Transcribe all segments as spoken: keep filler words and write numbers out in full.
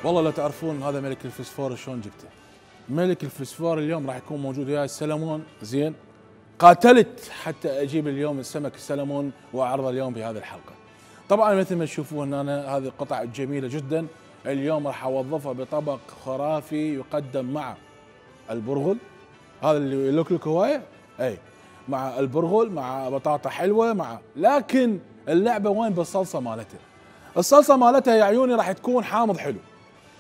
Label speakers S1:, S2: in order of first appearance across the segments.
S1: والله لا تعرفون هذا ملك الفسفور شلون جبته. ملك الفسفور اليوم راح يكون موجود وياي السلمون. زين، قاتلت حتى اجيب اليوم السمك السلمون واعرضه اليوم بهذه الحلقه. طبعا مثل ما تشوفون هنا هذه قطع جميله جدا، اليوم راح اوظفها بطبق خرافي يقدم مع البرغل، هذا اللي يلوكلك هوايه، اي مع البرغل مع بطاطا حلوه مع، لكن اللعبه وين بالصلصه مالتها. الصلصه مالتها يا عيوني راح تكون حامض حلو،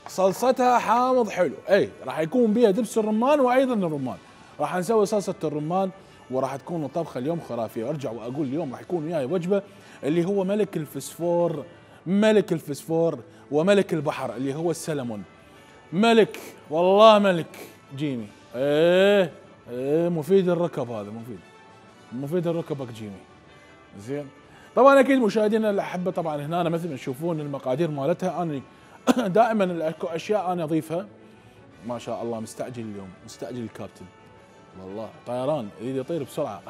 S1: صلصتها حامض حلو، اي راح يكون بها دبس الرمان وايضا الرمان. راح نسوي صلصه الرمان وراح تكون طبخه اليوم خرافيه. ارجع واقول اليوم راح يكون وياي وجبه اللي هو ملك الفسفور، ملك الفسفور وملك البحر اللي هو السلمون. ملك والله ملك جيمي. ايه ايه مفيد الركب، هذا مفيد مفيد الركبك جيمي. زين، طبعا اكيد مشاهدينا الاحبه، طبعا هنا أنا مثل ما تشوفون المقادير مالتها، انا دائما اكو اشياء انا اضيفها. ما شاء الله مستعجل اليوم، مستعجل الكابتن والله، طيران يريد يطير بسرعه.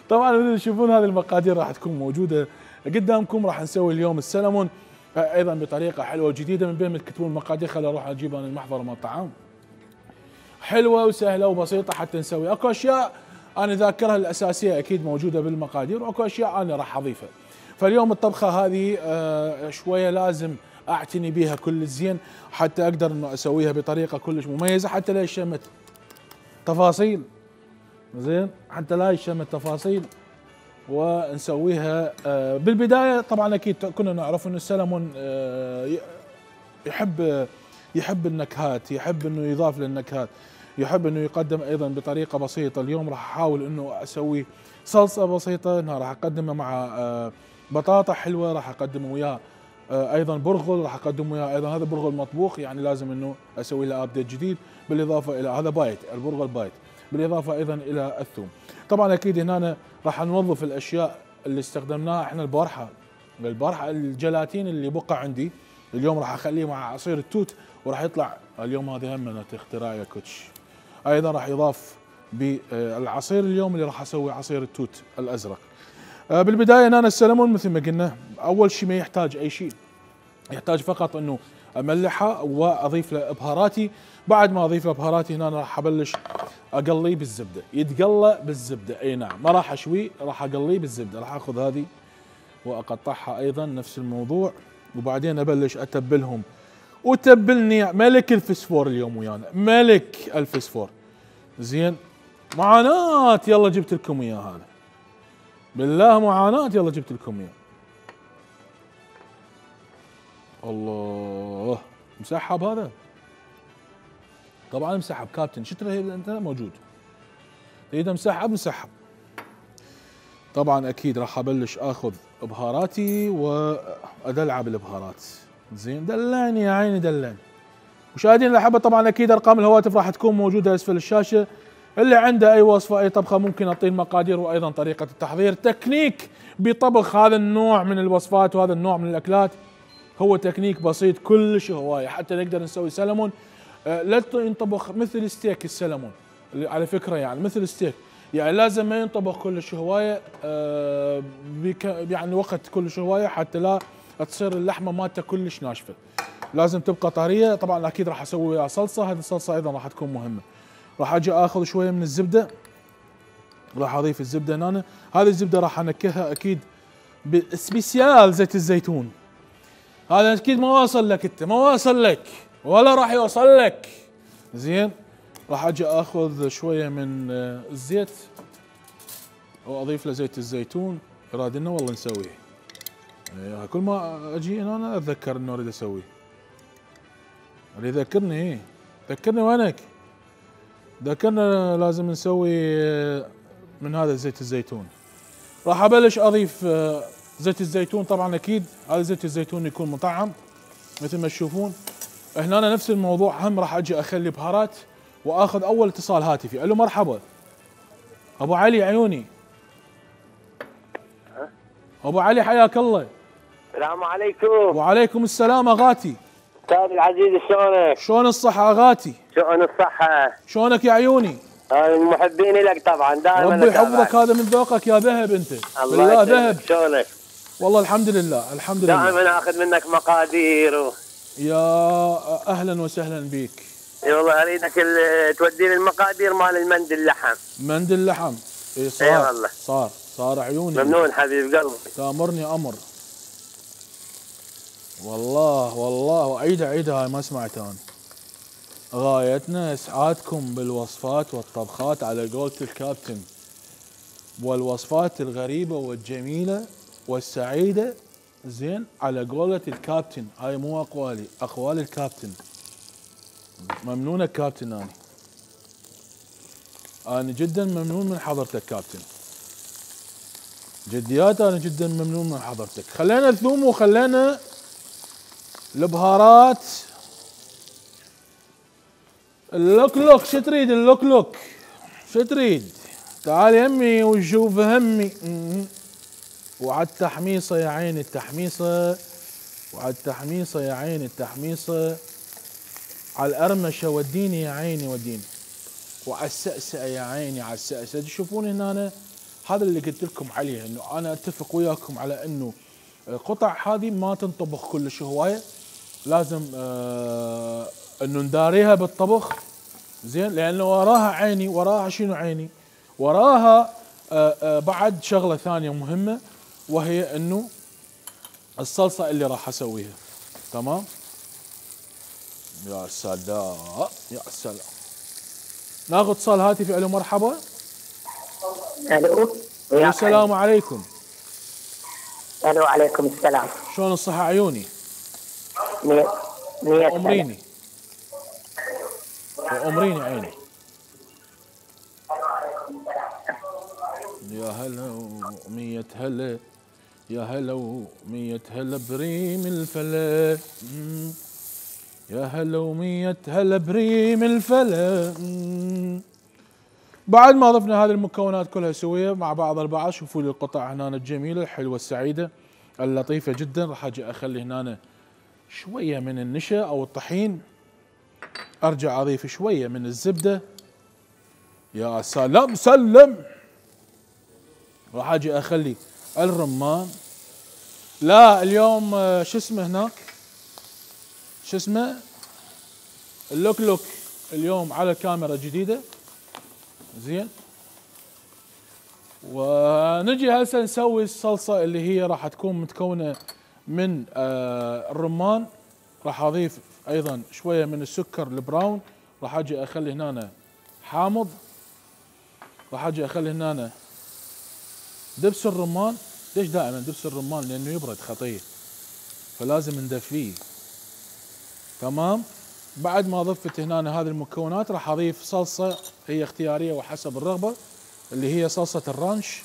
S1: طبعا مثل تشوفون هذه المقادير راح تكون موجوده قدامكم. راح نسوي اليوم السلمون ايضا بطريقه حلوه وجديده، من بين ما تكتبون المقادير خليني اروح اجيب انا المحضر مال الطعام. حلوه وسهله وبسيطه حتى نسوي. اكو اشياء انا ذاكرها الاساسيه اكيد موجوده بالمقادير، واكو اشياء انا راح اضيفها. فاليوم الطبخه هذه آه شويه لازم اعتني بها كل زين حتى اقدر انه اسويها بطريقه كلش مميزه، حتى لا يشمت تفاصيل. زين، حتى لا يشمت تفاصيل ونسويها. آه بالبدايه طبعا اكيد كنا نعرف انه السلمون آه يحب يحب النكهات، يحب انه يضاف للنكهات، يحب انه يقدم ايضا بطريقه بسيطه. اليوم راح احاول انه اسوي صلصه بسيطه، انها راح اقدمها مع آه بطاطا حلوه، راح اقدم وياه آه ايضا برغل، راح اقدم وياه ايضا هذا برغل مطبوخ، يعني لازم انه اسوي له ابديت جديد، بالاضافه الى هذا بايت البرغل بايت، بالاضافه ايضا الى الثوم. طبعا اكيد هنا راح نوظف الاشياء اللي استخدمناها احنا. البارحه البارحه الجلاتين اللي بقى عندي اليوم راح اخليه مع عصير التوت، وراح يطلع اليوم هذه هم من اختراع يا كوتش. ايضا راح يضاف بالعصير اليوم اللي راح اسوي عصير التوت الازرق. بالبدايه انا السلمون مثل ما قلنا اول شيء ما يحتاج اي شيء، يحتاج فقط انه املحه واضيف له بهاراتي. بعد ما اضيف له بهاراتي هنا راح ابلش اقليه بالزبده، يتقلى بالزبده، اي نعم ما راح اشويه، راح اقليه بالزبده. راح اخذ هذه واقطعها ايضا نفس الموضوع، وبعدين ابلش اتبلهم. وتبلني ملك الفسفور اليوم ويانا، ملك الفسفور. زين، معاناة يلا جبت لكم اياه هذا، بالله معاناة يلا جبت لكم اياه. الله مسحب هذا، طبعا مسحب كابتن، شو ترى انت موجود تريده مسحب مسحب. طبعا اكيد راح ابلش اخذ بهاراتي وادلع بالبهارات. زين، دلعني يا عيني دلعني. مشاهدينا الاحبه طبعا اكيد ارقام الهواتف راح تكون موجوده اسفل الشاشه، اللي عنده اي وصفه اي طبخه ممكن اعطيه المقادير وايضا طريقه التحضير. تكنيك بطبخ هذا النوع من الوصفات وهذا النوع من الاكلات هو تكنيك بسيط كلش هوايه حتى نقدر نسوي سلمون. أه لا ينطبخ مثل ستيك السلمون على فكره، يعني مثل ستيك، يعني لازم ما ينطبخ كلش هوايه أه يعني وقت كلش هوايه حتى لا تصير اللحمه مالته كلش ناشفه، لازم تبقى طريه. طبعا اكيد راح اسوي وياها صلصه، هذه الصلصه ايضا راح تكون مهمه. راح اجي اخذ شويه من الزبده، راح اضيف الزبده هنا. هذه الزبده راح انكهها اكيد بسبيسيال زيت الزيتون. هذا اكيد ما واصل لك انت، ما واصل لك ولا راح يوصل لك. زين، راح اجي اخذ شويه من الزيت واضيف له زيت الزيتون. ارادنا والله نسويه، كل ما اجي هنا أنا اتذكر انه اريد اسويه، اللي يذكرني ايه ذكرني وينك، ذكرنا لازم نسوي من هذا زيت الزيتون. راح ابلش اضيف زيت الزيتون. طبعا اكيد هذا زيت الزيتون يكون مطعم مثل ما تشوفون. هنا أنا نفس الموضوع، هم راح اجي اخلي بهارات واخذ اول اتصال هاتفي. الو مرحبا ابو علي عيوني. ابو علي حياك الله.
S2: السلام عليكم.
S1: وعليكم السلام اغاتي.
S2: استاذ العزيز شلونك؟
S1: شلون الصحة اغاتي؟
S2: شلون الصحة؟
S1: شلونك يا عيوني؟
S2: انا المحبين لك طبعا دائما.
S1: ربي يحفظك، هذا من ذوقك يا ذهب انت.
S2: الله
S1: ذهب.
S2: شلونك؟
S1: والله الحمد لله الحمد لله.
S2: دائما اخذ منك مقادير و...
S1: يا اهلا وسهلا بك.
S2: اي والله اريدك ال- توديني المقادير مال المند اللحم.
S1: مند اللحم. اي صار.
S2: اي والله.
S1: صار صار عيوني.
S2: ممنون حبيب قلبي.
S1: تامرني امر. والله والله واعيدها عيدها هاي ما سمعت انا. غايتنا اسعادكم بالوصفات والطبخات على قولة الكابتن، والوصفات الغريبة والجميلة والسعيدة، زين، على قولة الكابتن. هاي مو اقوالي، اقوال الكابتن. ممنون الكابتن. انا انا جدا ممنون من حضرتك كابتن، جديات انا جدا ممنون من حضرتك. خلينا الثوم وخلينا البهارات. اللوك لوك، شو تريد اللوك لوك؟ شو تريد؟ تعال يمي وشوف همي. وعد تحميصه يا عيني التحميصه، وعد تحميصه يا عيني التحميصه، على الأرمشة وديني يا عيني وديني، وعلى السأسأة يا عيني على السأسأة. تشوفون هنا أنا هذا اللي قلت لكم عليه، انه انا اتفق وياكم على انه القطع هذه ما تنطبخ كلش هوايه، لازم آه انه نداريها بالطبخ زين، لانه وراها عيني، وراها شنو عيني؟ وراها آه آه بعد شغله ثانيه مهمه، وهي انه الصلصه اللي راح اسويها. تمام؟ يا سلام يا سلام. ناخذ اتصال هاتفي. الو مرحبا.
S3: الو.
S1: السلام عليكم.
S3: الو عليكم السلام.
S1: شلون الصحة عيوني؟
S3: مية مية
S1: أمريني وأمريني عيني. يا هلا ومية هلا، يا هلا ومية هلا بريم الفلا، يا هلا ومية هلا بريم الفلا. بعد ما ضفنا هذه المكونات كلها سويه مع بعض البعض، شوفوا لي القطع هنا الجميله الحلوه السعيده اللطيفه جدا. راح اجي اخلي هنا شويه من النشا او الطحين، ارجع اضيف شويه من الزبده. يا سلام سلم. راح اجي اخلي الرمان. لا اليوم شو اسمه هناك، شو اسمه، اللوك لوك اليوم على كاميرا جديده زين. ونجي هسه نسوي الصلصه اللي هي راح تكون متكونه من آه الرمان. راح اضيف ايضا شويه من السكر البراون. راح اجي اخلي هنا حامض. راح اجي اخلي هنا دبس الرمان. ليش دائما دبس الرمان؟ لانه يبرد خطيه، فلازم ندفيه. تمام. بعد ما ضفت هنا هذه المكونات راح اضيف صلصه هي اختياريه وحسب الرغبه، اللي هي صلصه الرانش،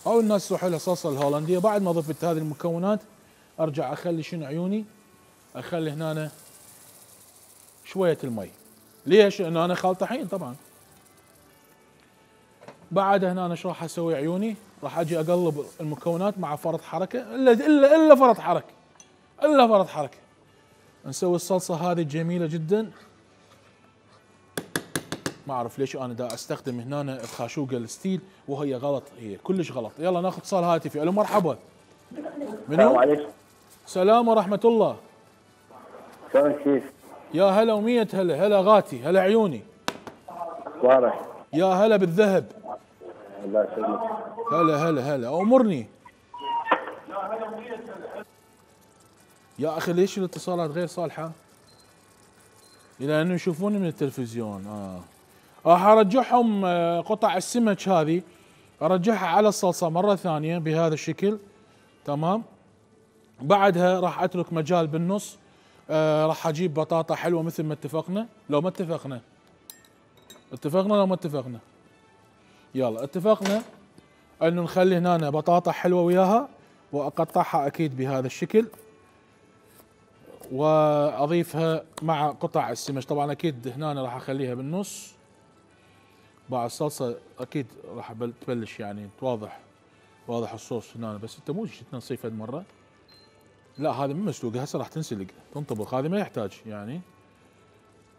S1: او الناس تروح لها صلصه الهولنديه. بعد ما ضفت هذه المكونات ارجع اخلي شنو عيوني، اخلي هنا شويه المي. ليش؟ لانه انا خال طحين طبعا. بعد هنا ايش راح اسوي عيوني؟ راح اجي اقلب المكونات مع فرط حركه، الا الا الا فرط حركه، الا فرط حركه. نسوي الصلصه هذه الجميله جدا. ما اعرف ليش انا دا استخدم هنا الخاشوقه الستيل وهي غلط، هي كلش غلط. يلا ناخذ اتصال هاتفي. الو مرحبا.
S2: السلام عليكم.
S1: سلام ورحمه الله.
S2: شلون كيف؟
S1: يا هلا ومية هلا. هلا غاتي، هلا عيوني.
S2: واضح.
S1: يا هلا بالذهب.
S2: الله يسلمك.
S1: هلا هلا هلا. امرني يا اخي. ليش الاتصالات غير صالحه؟ الى انه يشوفوني من التلفزيون. اه راح ارجعهم آه قطع السمك هذه، ارجعها على الصلصه مره ثانيه بهذا الشكل. تمام. بعدها راح اترك مجال بالنص. آه راح اجيب بطاطا حلوه مثل ما اتفقنا. لو ما اتفقنا اتفقنا لو ما اتفقنا يلا اتفقنا انه نخلي هنا بطاطا حلوه وياها، واقطعها اكيد بهذا الشكل، واضيفها مع قطع السمك. طبعا اكيد هنا راح اخليها بالنص. بعد الصلصه اكيد راح تبلش يعني واضح واضح الصوص هنا، بس انت مو تنصيف هذه مره. لا هذا مو مسلوقه، هسه راح تنسلق تنطبخ. هذه ما يحتاج يعني،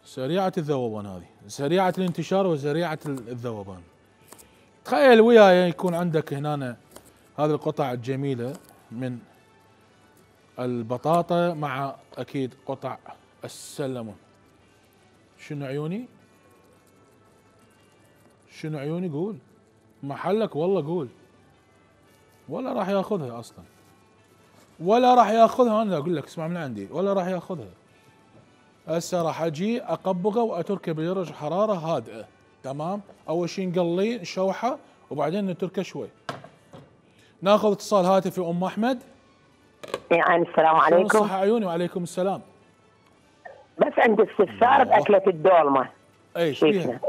S1: سريعه الذوبان، هذه سريعه الانتشار وسريعه الذوبان. تخيل وياي يكون عندك هنا هذه القطع الجميلة من البطاطا مع اكيد قطع السلمون. شنو عيوني؟ شنو عيوني؟ قول محلك والله، قول. ولا راح ياخذها اصلا، ولا راح ياخذها. انا اقول لك اسمع من عندي، ولا راح ياخذها. هسه راح اجي اقبقه واتركه بدرجه حراره هادئه. تمام. اول شيء نقليه نشوحه وبعدين نتركه شوي. ناخذ اتصال هاتفي ام احمد.
S3: يعني السلام عليكم.
S1: صح عيوني. وعليكم السلام.
S3: بس عندي استفسار باكله الدولمه.
S1: ايش فيها؟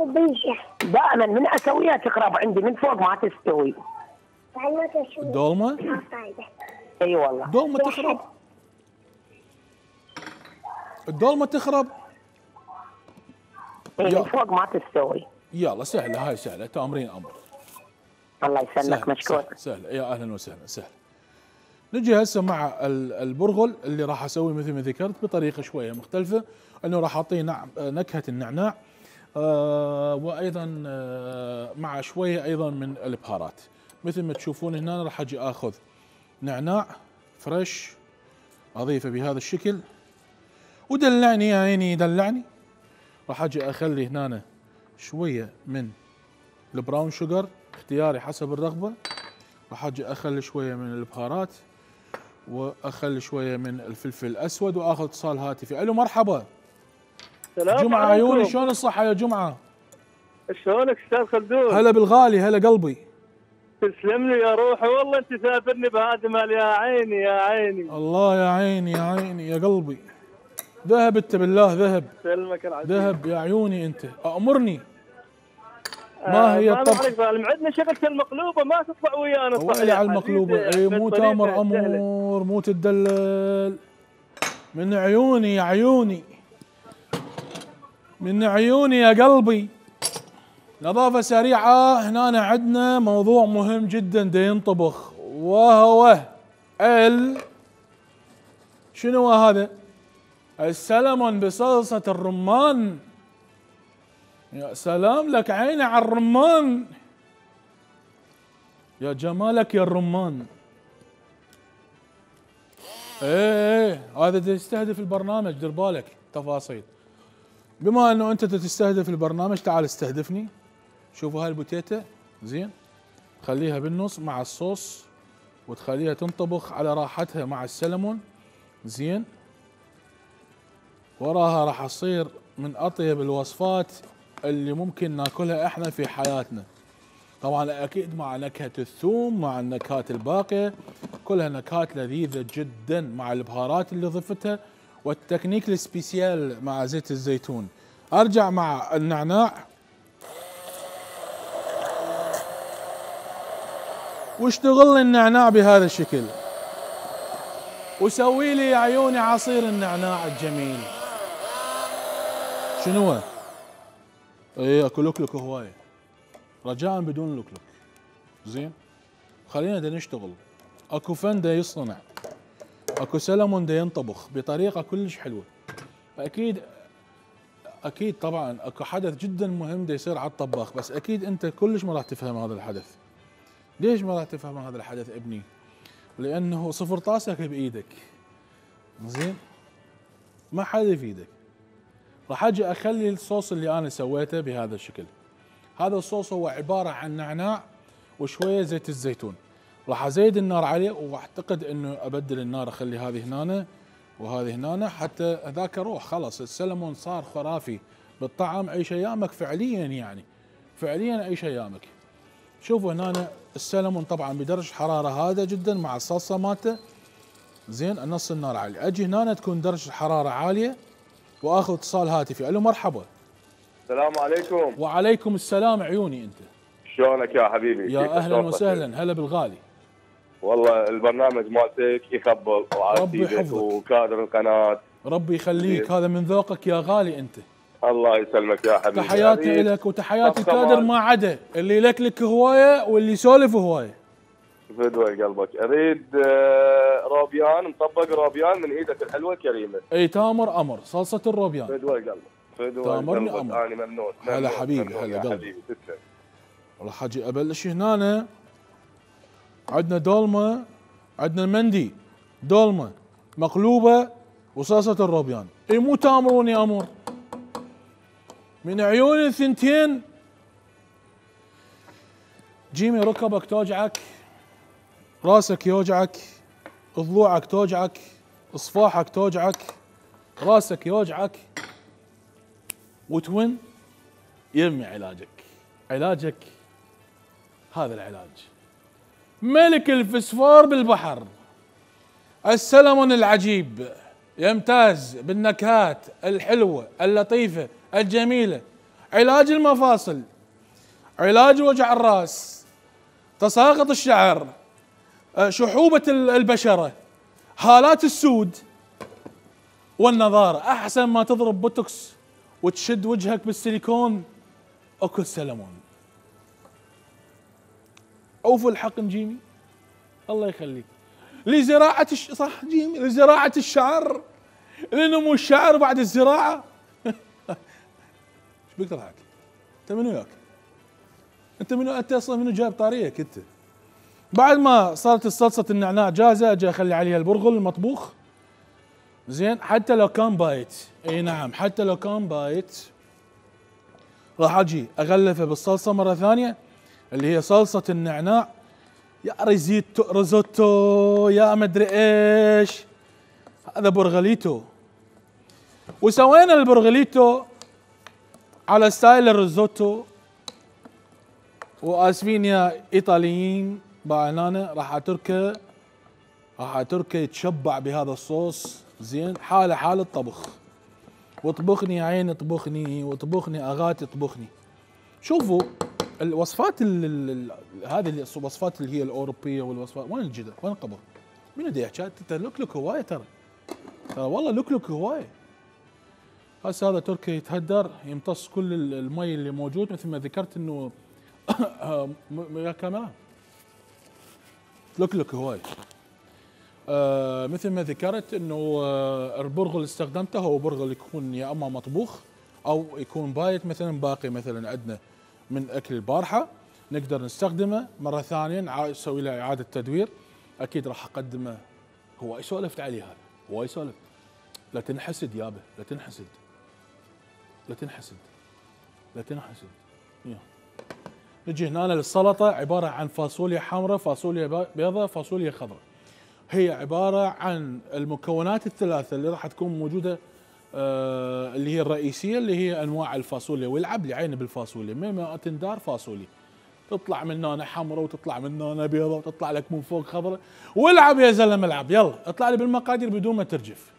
S3: دائما من اسويها تقرب عندي من فوق ما تستوي.
S1: الدولمه؟
S3: اي والله.
S1: الدولمه تخرب؟ الدولمه تخرب؟
S3: اي من فوق ما تستوي.
S1: يلا سهله، هاي سهله، تامرين امر.
S3: الله يسلمك، مشكور.
S1: سهله، يا اهلا وسهلا. سهله. نجي هسه مع البرغل اللي راح اسوي مثل ما ذكرت بطريقه شويه مختلفه، انه راح اعطيه نعم نكهه النعناع، آه وايضا آه مع شويه ايضا من البهارات. مثل ما تشوفون هنا راح اجي اخذ نعناع فريش اضيفه بهذا الشكل، ودلعني يا عيني دلعني. راح اجي اخلي هنا شويه من البراون شوجر اختياري حسب الرغبه. راح اجي اخلي شويه من البهارات واخلي شويه من الفلفل الاسود، واخذ اتصال هاتفي. الو مرحبا.
S4: سلام
S1: جمعه
S4: عليكم.
S1: عيوني، شلون الصحه يا جمعه؟
S4: شلونك استاذ خلدون؟
S1: هلا بالغالي، هلا قلبي.
S4: تسلم لي يا روحي، والله انت سافرني بهذا مال يا عيني يا عيني.
S1: الله يا عيني يا عيني يا قلبي. ذهب انت بالله، ذهب.
S4: سلمك العزيز.
S1: ذهب يا عيوني انت. امرني. ما هي
S4: آه
S1: الطبخ؟
S4: عندنا شغله المقلوبه ما تطلع ويانا.
S1: ويلي على المقلوبه. اي مو تامر امور، مو تدلل. من عيوني يا عيوني، من عيوني يا قلبي. نظافة سريعة. هنا عندنا موضوع مهم جدا دا ينطبخ، وهو ال شنو هذا؟ السلمون بصلصة الرمان. يا سلام لك عيني على الرمان، يا جمالك يا الرمان. ايه ايه هذا تستهدف البرنامج، دير بالك تفاصيل. بما انه انت تستهدف البرنامج تعال استهدفني. شوفوا هاي البوتيتا زين، خليها بالنص مع الصوص وتخليها تنطبخ على راحتها مع السلمون زين. وراها راح تصير من اطيب الوصفات اللي ممكن ناكلها احنا في حياتنا. طبعا اكيد مع نكهة الثوم، مع النكهات الباقية، كلها نكهات لذيذة جدا مع البهارات اللي ضفتها والتكنيك السبيسيال مع زيت الزيتون. ارجع مع النعناع واشتغل لي النعناع بهذا الشكل، وسوي لي يا عيوني عصير النعناع الجميل. شنو هو؟ ايه اكو لكلك هوايه، رجاء بدون لكلك زين. خلينا دا نشتغل. اكو فن دا يصنع، اكو سلمون دا ينطبخ بطريقه كلش حلوه. اكيد اكيد طبعا اكو حدث جدا مهم دا يصير على الطباخ، بس اكيد انت كلش ما راح تفهم هذا الحدث. ليش ما راح تفهم هذا الحدث ابني؟ لانه صفر طاسك بايدك زين، ما حد يفيدك. راح اجي اخلي الصوص اللي انا سويته بهذا الشكل. هذا الصوص هو عباره عن نعناع وشويه زيت الزيتون. راح ازيد النار عليه، واعتقد انه ابدل النار، اخلي هذه هنا وهذه هنا حتى ذاك اروح. خلص السلمون صار خرافي بالطعم، عيش ايامك فعليا، يعني فعليا عيش ايامك. شوفوا هنا السلمون طبعا بدرجه حراره هادئه جدا مع الصلصه مالته زين. نص النار عالي. اجي هنا تكون درجه الحراره عاليه واخذ اتصال هاتفي. الو مرحبا.
S4: السلام عليكم.
S1: وعليكم السلام عيوني انت.
S4: شلونك يا حبيبي؟
S1: يا اهلا وسهلا، هلا بالغالي.
S4: والله البرنامج مالتك يخبل
S1: ربي يحفظك
S4: وكادر القناه.
S1: ربي يخليك، هذا من ذوقك يا غالي انت.
S4: الله يسلمك يا حبيبي.
S1: تحياتي لك وتحياتي كادر ما عدا اللي لك لك هوايه واللي يسولف هوايه.
S4: فدوى قلبك. اريد روبيان مطبق، روبيان من ايدك الحلوه الكريمه.
S1: اي تامر امر، صلصه الروبيان.
S4: فدوى قلبك، فدوى
S1: تامرني
S4: قلبك.
S1: امر.
S4: انا ممنون.
S1: هلا حبيبي، هلا قلبي.
S4: حبيبي تسلم.
S1: راح اجي ابلش هنا عندنا دولمه، عندنا المندي دولمه مقلوبه وصلصه الروبيان. اي مو تامرون يا امور، من عيون الثنتين جيمي ركبك توجعك، راسك يوجعك، ضلوعك توجعك، اصفاحك توجعك، راسك يوجعك، وتون يمي علاجك. علاجك هذا العلاج، ملك الفسفور بالبحر، السلمون العجيب، يمتاز بالنكهات الحلوة اللطيفة الجميلة، علاج المفاصل، علاج وجع الراس، تساقط الشعر، شحوبة البشرة، هالات السود والنضارة. احسن ما تضرب بوتوكس وتشد وجهك بالسيليكون، اكل سلمون. اوفوا الحقن جيمي، الله يخليك. لزراعة الش... صح جيمي، لزراعة الشعر، لنمو الشعر بعد الزراعة. ايش بك تضحك؟ انت منو وياك؟ انت منو انت اصلا منو جايب طاريك انت؟ بعد ما صارت الصلصة النعناع جاهزة، اجي اخلي عليها البرغل المطبوخ. زين، حتى لو كان بايت، اي نعم حتى لو كان بايت، راح اجي اغلفه بالصلصة مرة ثانية اللي هي صلصة النعناع. يا ريزيتو ريزوتو يا مدري ايش، هذا برغليتو. وسوينا البرغليتو على ستايل الريزوتو. واسفين يا ايطاليين باعنانه، راح اتركه راح اتركه يتشبع بهذا الصوص. زين، حاله حال الطبخ. واطبخني يا عيني اطبخني، واطبخني اغاتي اطبخني. شوفوا الوصفات هذه الوصفات اللي هي الاوروبيه والوصفات، وين الجدر؟ وين القبر؟ من يدي يحكي؟ لكلك هوايه ترى ترى والله لكلك هوايه. هسه هذا تركي يتهدر، يمتص كل المي اللي موجود، مثل ما ذكرت انه يا كاميرا لكلك هوايه. آه مثل ما ذكرت انه آه البرغل اللي استخدمته هو برغل يكون يا اما مطبوخ او يكون بايت، مثلا باقي مثلا عندنا من اكل البارحه نقدر نستخدمه مره ثانيه، نسوي له اعاده تدوير. اكيد راح اقدمه. هو سولفت عليه هذا، هو سولفت. لا تنحسد يابا، لا تنحسد، لا تنحسد، لا تنحسد. يا. نجي هنا للسلطه، عباره عن فاصوليا حمراء، فاصوليا بيضاء، فاصوليا خضراء. هي عباره عن المكونات الثلاثه اللي راح تكون موجوده، آه اللي هي الرئيسيه، اللي هي انواع الفاصوليا. والعب لي عيني بالفاصوليا، من ما تندار فاصوليا، تطلع من هنا حمراء وتطلع من هنا بيضاء وتطلع لك من فوق خضراء. والعب يا زلمه العب، يلا اطلع لي بالمقادير بدون ما ترجف.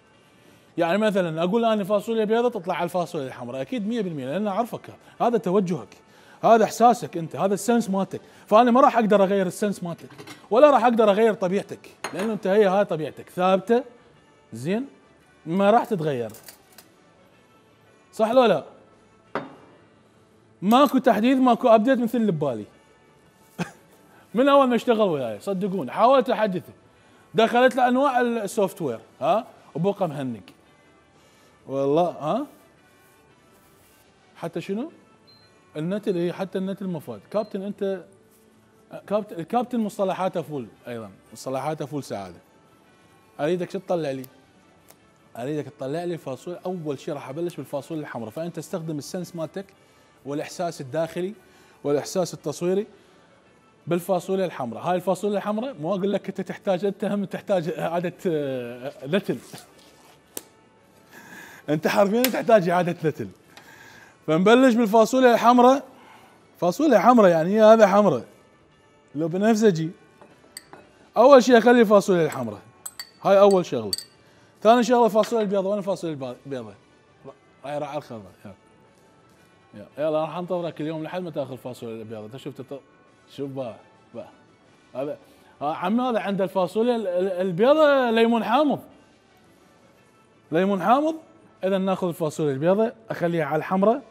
S1: يعني مثلا اقول انا فاصوليا بيضاء، تطلع على الفاصوليا الحمراء اكيد مية بالمية، لان اعرفك، هذا توجهك، هذا احساسك انت، هذا السنس مالتك. فانا ما راح اقدر اغير السنس مالتك، ولا راح اقدر اغير طبيعتك، لانه انت هي هاي طبيعتك ثابته. زين، ما راح تتغير. صح لو لا؟ ماكو تحديث، ماكو ابديت مثل اللي ببالي. من اول ما اشتغل وياي صدقوني حاولت احدثه، دخلت له انواع السوفت وير ها وبقى مهنق والله. ها حتى شنو؟ النت اللي هي حتى النت المفاد. كابتن انت كابتن، الكابتن مصطلحاته فول، ايضا مصطلحاته فول سعاده. اريدك شو تطلع لي؟ اريدك تطلع لي فاصوليا. اول شيء راح ابلش بالفاصوليا الحمراء، فانت تستخدم السنس مالتك والاحساس الداخلي والاحساس التصويري بالفاصوليا الحمراء. هاي الفاصوليا الحمراء مو اقول لك انت تحتاج، انت هم تحتاج اعاده نتل. انت حرفيا تحتاج اعاده نتل. فنبلش بالفاصوليا الحمراء. فاصوليا حمراء يعني هي هذا حمراء لو بنفسجي. اول شيء اخلي الفاصوليا الحمراء، هاي اول شغله. ثاني شغله الفاصوليا البيضاء. وين الفاصوليا البيضاء؟ هاي راح على الخضراء. يلا يلا راح انتظرك اليوم لحد ما تاخذ الفاصوليا البيضاء. انت شفت تط... شوف بقى بقى هذا عم هذا عند الفاصوليا البيضاء ليمون حامض، ليمون حامض. اذا ناخذ الفاصوليا البيضاء اخليها على الحمراء،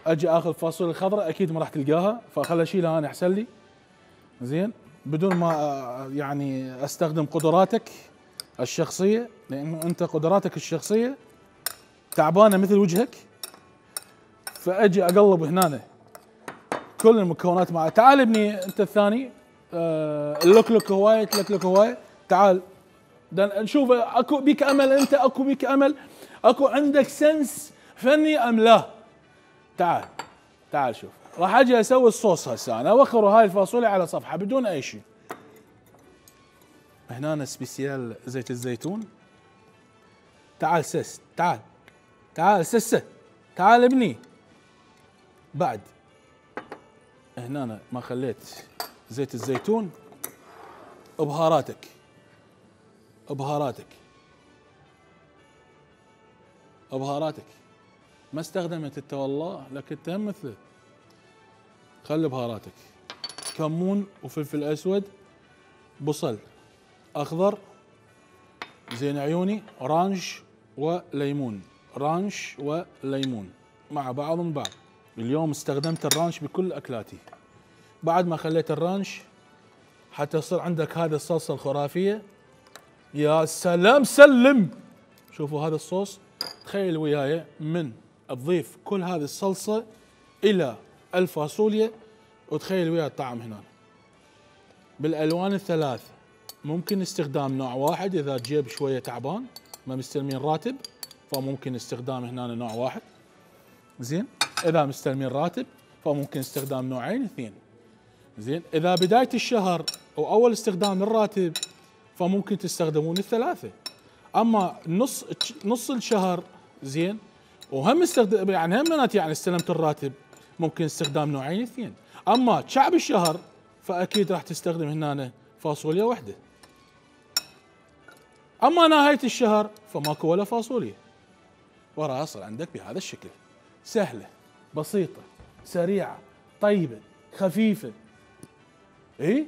S1: اجي اخذ الفاصوليا الخضراء اكيد ما راح تلقاها، فخلي اشيلها انا احسن لي. زين، بدون ما يعني استخدم قدراتك الشخصيه، لانه انت قدراتك الشخصيه تعبانه مثل وجهك. فاجي اقلب هنا كل المكونات معه. تعال ابني انت الثاني، آه اللوكلوك هوايه تلكلك هوايه. تعال نشوف اكو بيك امل، انت اكو بيك امل، اكو عندك سنس فني ام لا؟ تعال تعال شوف، راح اجي اسوي الصوص هسه انا، اوخر هاي الفاصوليا على صفحه بدون اي شيء. هنا سبيسيال زيت الزيتون. تعال سس، تعال تعال سسه، تعال ابني. بعد هنا أنا ما خليت زيت الزيتون، بهاراتك بهاراتك بهاراتك ما استخدمت انت والله، لكن انت هم مثله. خلي بهاراتك كمون وفلفل اسود، بصل اخضر، زين عيوني، رانش وليمون، رانش وليمون مع بعض من بعض. اليوم استخدمت الرانش بكل اكلاتي. بعد ما خليت الرانش حتى يصير عندك هذه الصلصه الخرافيه. يا سلام سلم. شوفوا هذا الصوص، تخيل وياي من تضيف كل هذه الصلصه الى الفاصوليا، وتخيل ويا الطعم هنا بالالوان الثلاث. ممكن استخدام نوع واحد اذا جيب شويه تعبان ما مستلمين راتب، فممكن استخدام هنا نوع واحد. زين، اذا مستلمين راتب فممكن استخدام نوعين اثنين. زين، اذا بدايه الشهر او اول استخدام للراتب فممكن تستخدمون الثلاثه. اما نص نص الشهر زين، وهم استخدم يعني هم يعني استلمت الراتب، ممكن استخدام نوعين اثنين. اما شعب الشهر فاكيد راح تستخدم هنا فاصوليا واحده. اما نهايه الشهر فماكو ولا فاصوليا، وراها يصل عندك بهذا الشكل. سهله بسيطه سريعه طيبه خفيفه. اي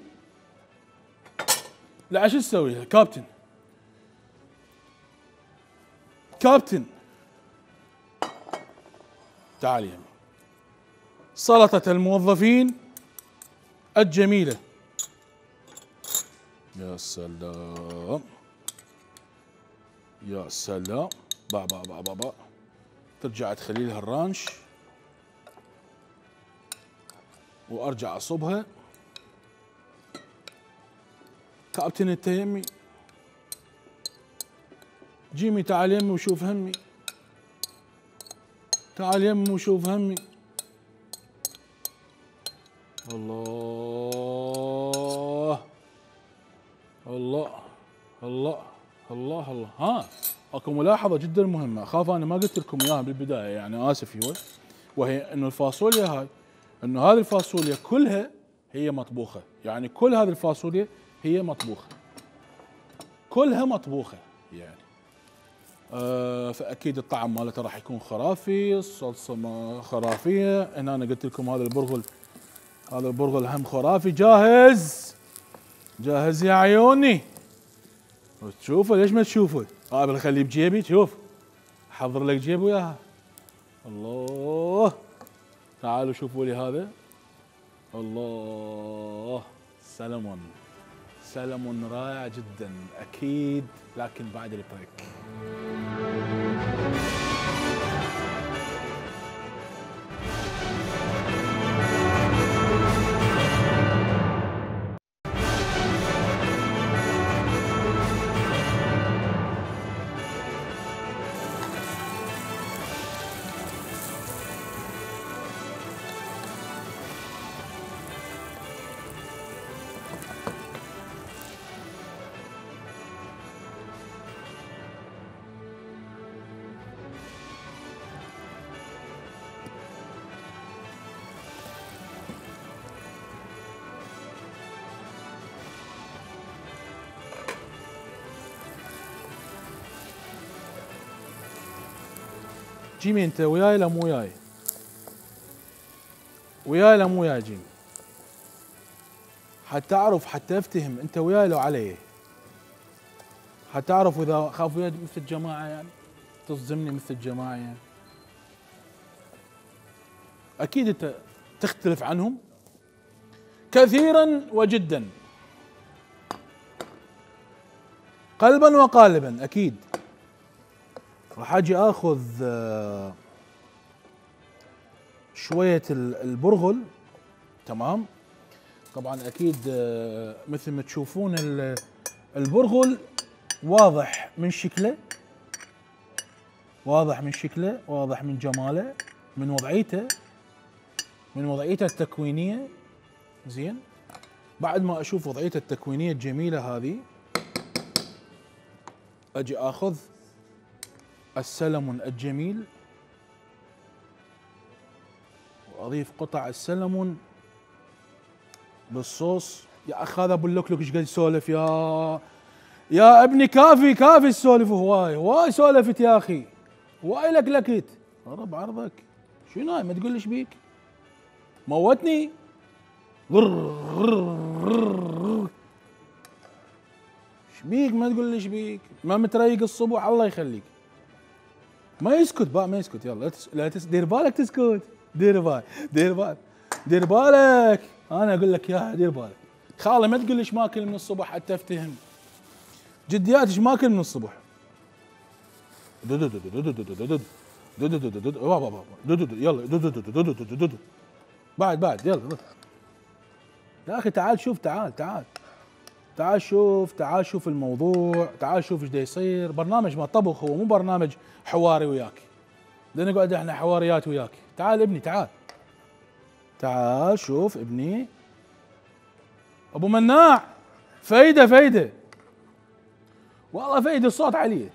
S1: لا شو تسوي كابتن؟ كابتن تعال يمي. سلطة الموظفين الجميلة. يا سلام يا سلام. با با با با با ترجع تخلي لها الرانش وارجع اصبها. كابتن انت يمي، جيمي تعال يمي وشوف همي، تعال يمي وشوف همي. الله الله الله الله الله. ها اكو ملاحظه جدا مهمه، اخاف انا ما قلت لكم اياها بالبدايه، يعني اسف يوي، وهي انه الفاصوليا هاي، انه هذه الفاصوليا كلها هي مطبوخه، يعني كل هذه الفاصوليا هي مطبوخه، كلها مطبوخه يعني. آه فاكيد الطعم مالتها راح يكون خرافي، الصلصه ما خرافيه. هنا انا قلت لكم هذا البرغل، هذا البرغل هم خرافي. جاهز جاهز يا عيوني. تشوفه ليش ما تشوفه؟ اه بخليه بجيبي. شوف احضر لك جيب وياها. الله تعالوا شوفوا لي هذا. الله سلمون سلمون رائع جدا اكيد، لكن بعد البريك. جيمي انت وياي لا مو وياي؟ وياي لا مو وياي جيمي؟ حتى اعرف، حتى افتهم انت وياي لو علي، حتى اعرف اذا خاف وياي مثل الجماعه، يعني تصدمني مثل الجماعه يعني. اكيد انت تختلف عنهم كثيرا وجدا، قلبا وقالبا. اكيد راح اجي اخذ شويه البرغل، تمام، طبعا اكيد آه، مثل ما تشوفون ال- البرغل واضح من شكله، واضح من شكله، واضح من جماله، من وضعيته، من وضعيته التكوينيه. زين، بعد ما اشوف وضعيته التكوينيه الجميله هذه، اجي اخذ السلمون الجميل واضيف قطع السلمون بالصوص. يا اخ هذا ابو اللوكلوك ايش قاعد يسولف يا يا ابني؟ كافي كافي السولف، هواي هواي سولفت يا اخي، هواي لكلكت. رب عرضك شنو هاي؟ ما تقول لي ايش بيك؟ موتني. غر غر غر. ايش بيك؟ ما تقول لي ايش بيك؟ ما متريق الصبح الله يخليك. ما يسكت بقى، ما يسكت. يلا لا تس... لا تس... دير بالك تسكت، دير بالك دير بالك دير بالك. انا اقول لك يا دير بالك. خالي ما تقول لي ايش ماكل من الصبح حتى افتهم. جديات ايش ماكل من الصبح؟ يلا بعد بعد يلا يا اخي تعال شوف، تعال تعال تعال شوف، تعال شوف الموضوع، تعال شوف ايش دا يصير. برنامج ما طبخ، هو مو برنامج حواري وياك، بدنا نقعد احنا حواريات وياك. تعال ابني تعال تعال شوف ابني. ابو مناع فايده فايده والله فايده، الصوت عليه.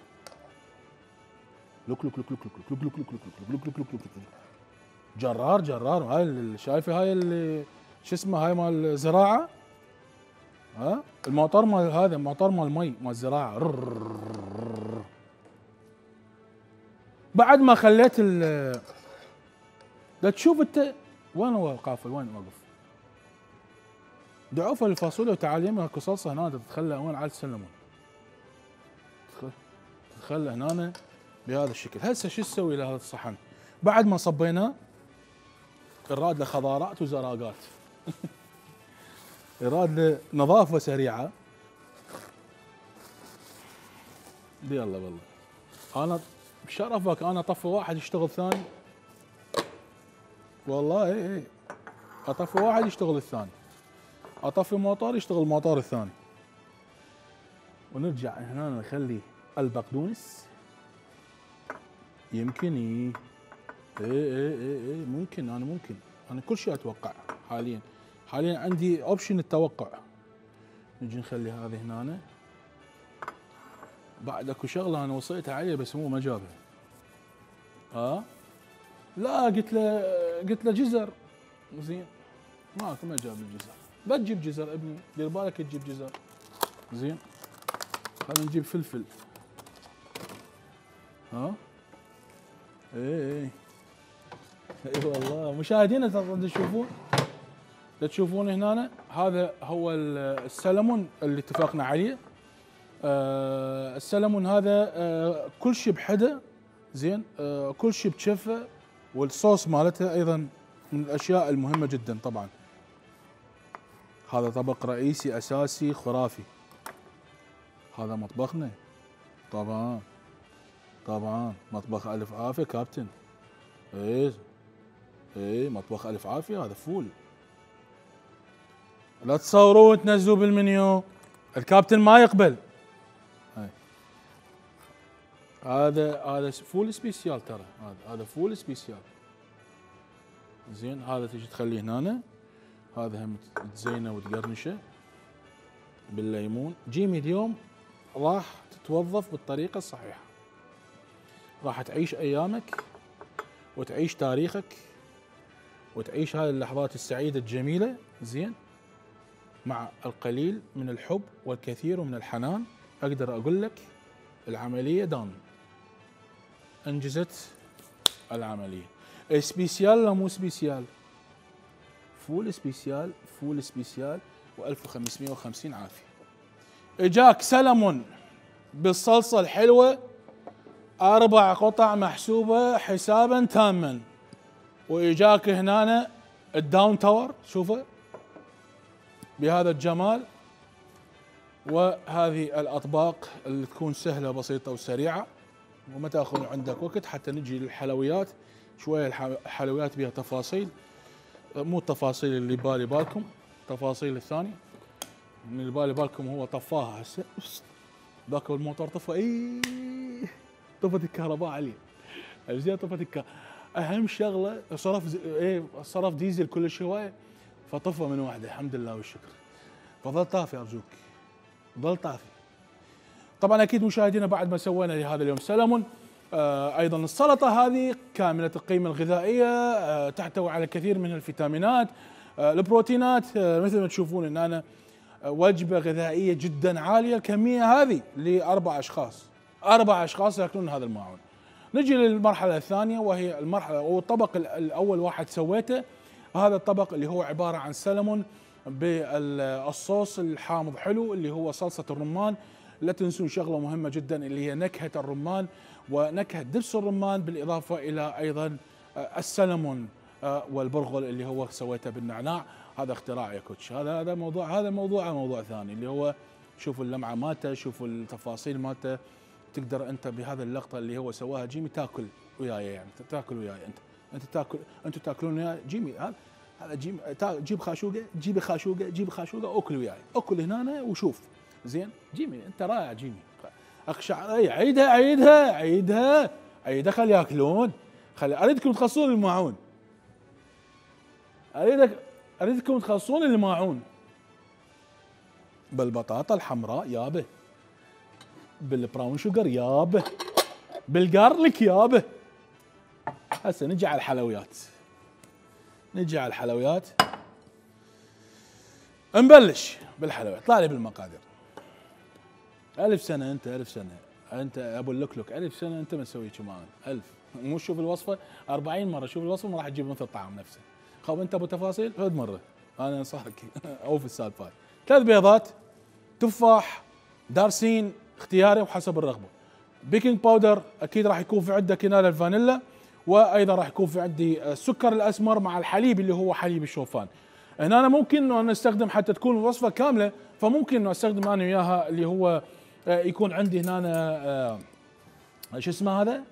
S1: لوك لوك لوك لوك لوك لوك لوك لوك لوك لوك لوك لوك لوك. جرار جرار. هاي اللي شايفه، هاي اللي شو اسمه، هاي مال الزراعه. ها الموتور مال هذا، موتور مال المي مال الزراعه. بعد ما خليت ال لا تشوف انت وين هو القافل، وين واقف؟ دعوفه الفاصوليا وتعال يمها اكو صلصه هنا تتخلى وين على السلمون، تتخلى هنا بهذا الشكل. هسه شو تسوي لهذا الصحن؟ بعد ما صبيناه يراد له خضارات وزراقات يراد له نظافه سريعه. يلا والله انا بشرفك انا اطفي واحد يشتغل ثاني، والله اي اي اطفي واحد يشتغل الثاني، اطفي موتور يشتغل الموتور الثاني. ونرجع هنا نخلي البقدونس. يمكن اي اي اي اي, اي ممكن، انا ممكن انا كل شيء اتوقع حاليا. حاليا عندي اوبشن التوقع. نجي نخلي هذه هنا. بعد اكو شغله انا وصيتها عليه بس هو ما جابها. اه لا قلت له قلت له جزر. زين ماكو، ما جاب الجزر. بتجيب جزر ابني، دير بالك تجيب جزر. زين خلينا نجيب فلفل. ها اي اي اي والله مشاهدينا تشوفون تشوفون هنا هذا هو السلمون اللي اتفقنا عليه. آه السلمون هذا آه كل شيء بحده. زين آه كل شيء بشفه، والصوص مالته ايضا من الاشياء المهمه جدا. طبعا هذا طبق رئيسي اساسي خرافي. هذا مطبخنا طبعا طبعا، مطبخ الف عافيه كابتن. ايه ايه مطبخ الف عافيه. هذا فول، لا تصوروا وتنزلوا بالمنيو، الكابتن ما يقبل. هاي. هذا هذا فول سبيسيال ترى، هذا هذا فول سبيسيال. زين هذا تجي تخليه هنا، هذا هم تزينه وتقرنشه بالليمون. جيمي اليوم راح تتوظف بالطريقه الصحيحه، راح تعيش ايامك وتعيش تاريخك وتعيش هذه اللحظات السعيده الجميله. زين مع القليل من الحب والكثير من الحنان. اقدر اقول لك العمليه دان، انجزت العمليه. سبيسيال ولا مو سبيسيال؟ فول سبيسيال، فول سبيسيال وألف وخمسمئة وخمسين عافيه. اجاك سلمون بالصلصه الحلوه، اربع قطع محسوبه حسابا تاما. واجاك هنا الداون تاور، شوفه بهذا الجمال. وهذه الاطباق اللي تكون سهله بسيطه وسريعه وما تاخذ عندك وقت. حتى نجي للحلويات شويه، الحلويات بها تفاصيل، مو التفاصيل اللي بالي بالكم. التفاصيل الثانيه من اللي بالي بالكم هو طفاها هسه ذاك الموتور طفى اي طفت الكهرباء عليه زين طفت الكهرباء اهم شغله صرف ز... ايه صرف ديزل كل شويه فطفى من واحده الحمد لله والشكر فظل طافي ارجوك ظل طافي. طبعا اكيد مشاهدينا بعد ما سوينا لهذا اليوم سلمون آه ايضا السلطه هذه كامله القيمه الغذائيه آه تحتوي على كثير من الفيتامينات آه البروتينات آه مثل ما تشوفون ان انا آه وجبه غذائيه جدا عاليه الكميه هذه لاربع اشخاص اربع اشخاص ياكلون هذا الماعون. نجي للمرحله الثانيه وهي المرحله او الطبق الاول واحد سويته هذا الطبق اللي هو عباره عن سلمون بالصوص الحامض حلو اللي هو صلصه الرمان. لا تنسون شغله مهمه جدا اللي هي نكهه الرمان ونكهه دبس الرمان بالاضافه الى ايضا السلمون والبرغل اللي هو سويته بالنعناع. هذا اختراع يا كوتش هذا هذا موضوع هذا موضوع موضوع ثاني اللي هو شوفوا اللمعه مالته شوفوا التفاصيل مالته تقدر انت بهذا اللقطه اللي هو سواها جيمي تاكل وياي يعني تاكل وياي انت انت تاكل انتم تاكلون وياي جيمي هذا هذا جيب جيب خاشوقه جيب خاشوقه جيب خاشوقه اكل وياي اكل هنا وشوف زين جيمي انت رائع جيمي اقشع اي عيدها عيدها عيدها عيدها خلي ياكلون خلي اريدكم تخلصون الماعون اريدك اريدكم تخلصون الماعون بالبطاطا الحمراء يابه بالبراون شوجر يابه بالجارليك يابه. هسه نجي على الحلويات نجي على الحلويات نبلش بالحلويات. طلع لي بالمقادير ألف سنة أنت ألف سنة أنت أبو اللكلك ألف سنة أنت ما تسوي كمان ألف مو شوف الوصفة أربعين مرة شوف الوصفة ما راح تجيب مثل الطعام نفسه. خب أنت أبو تفاصيل فد مرة أنا أنصحك أوف السالفات. ثلاث بيضات تفاح دارسين اختياري وحسب الرغبة. بيكنج باودر أكيد راح يكون في عندك هنا الفانيلا وايضا راح يكون في عندي السكر الاسمر مع الحليب اللي هو حليب الشوفان. هنا أنا ممكن انه نستخدم حتى تكون الوصفه كامله فممكن انه استخدم انا وياها اللي هو يكون عندي هنا شو اسمه هذا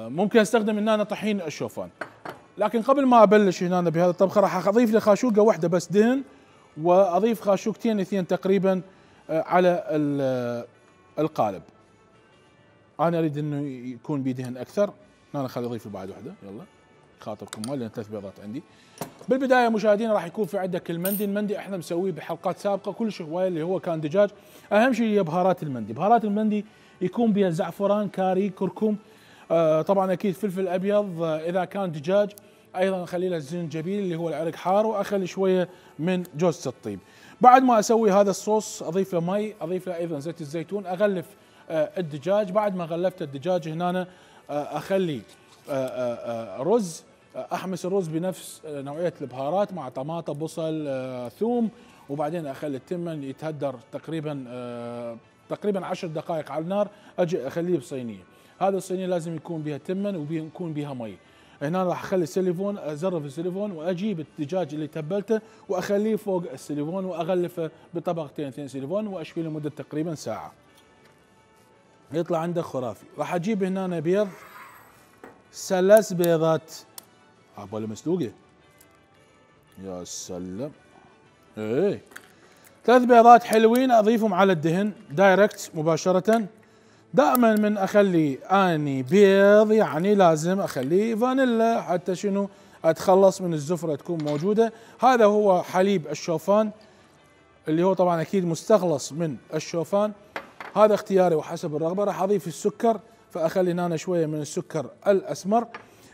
S1: ممكن استخدم هنا أنا طحين الشوفان. لكن قبل ما ابلش هنا بهذا الطبخه راح اضيف لي خاشوقه واحده بس دهن واضيف خاشوقتين اثنين تقريبا على القالب. انا اريد انه يكون بيدهن اكثر انا خلي اضيف بعد واحده يلا خاطركم مال لان ثلاث بيضات عندي. بالبدايه مشاهدينا راح يكون في عندك المندي. المندي احنا مسويه بحلقات سابقه كل شويه اللي هو كان دجاج. اهم شيء هي بهارات المندي. بهارات المندي يكون بها زعفران كاري كركم آه طبعا اكيد فلفل ابيض آه اذا كان دجاج ايضا اخلي له الزنجبيل اللي هو العرق حار واخلي شويه من جوز الطيب. بعد ما اسوي هذا الصوص اضيف له مي اضيف له ايضا زيت الزيتون اغلف آه الدجاج. بعد ما غلفت الدجاج هنا آه اخلي آآ آآ رز احمس الرز بنفس نوعيه البهارات مع طماطم بصل ثوم وبعدين اخلي التمن يتهدر تقريبا تقريبا عشر دقائق على النار. اجي اخليه بصينيه. هذا الصينيه لازم يكون بها تمن ويكون بها مي. هنا راح اخلي السيليفون ازرف السيليفون واجيب الدجاج اللي تبلته واخليه فوق السيليفون واغلفه بطبقتين اثنين سيليفون واشويه لمده تقريبا ساعه. يطلع عندك خرافي. راح اجيب هنا بيض ثلاث بيضات عبالي مسلوقه يا سلام ايه ثلاث بيضات حلوين اضيفهم على الدهن دايركت مباشره. دائما من اخلي اني بيض يعني لازم اخليه فانيلا حتى شنو اتخلص من الزفره تكون موجوده. هذا هو حليب الشوفان اللي هو طبعا اكيد مستخلص من الشوفان. هذا اختياري وحسب الرغبه. راح اضيف السكر فاخلي هنا شويه من السكر الاسمر